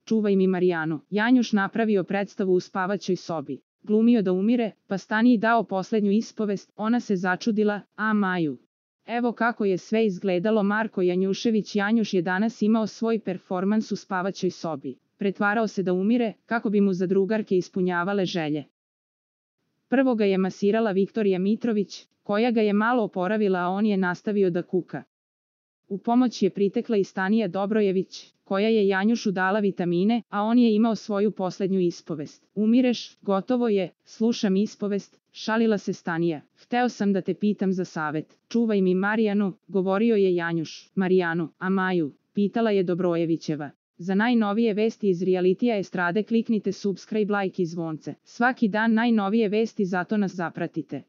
čuvaj mi Marijanu. Janjuš napravio predstavu u spavaćoj sobi. Glumio da umire, pa Staniji dao poslednju ispovest, ona se začudila, a Maju. Evo kako je sve izgledalo. Marko Janjušević Janjuš je danas imao svoj performans u spavaćoj sobi. Pretvarao se da umire, kako bi mu zadrugarke ispunjavale želje. Prvo ga je masirala Viktorija Mitrović, koja ga je malo oporavila, a on je nastavio da kuka. U pomoć je pritekla i Stanija Dobrojević, koja je Janjušu dala vitamine, a on je imao svoju poslednju ispovest. Umireš, gotovo je, slušam ispovest, šalila se Stanija. Hteo sam da te pitam za savet. Čuvaj mi Marijanu, govorio je Janjuš. Marijanu, a Maju, pitala je Dobrojevićeva. Za najnovije vesti iz realitija estrade kliknite subscribe, like i zvonce. Svaki dan najnovije vesti, zato nas zapratite.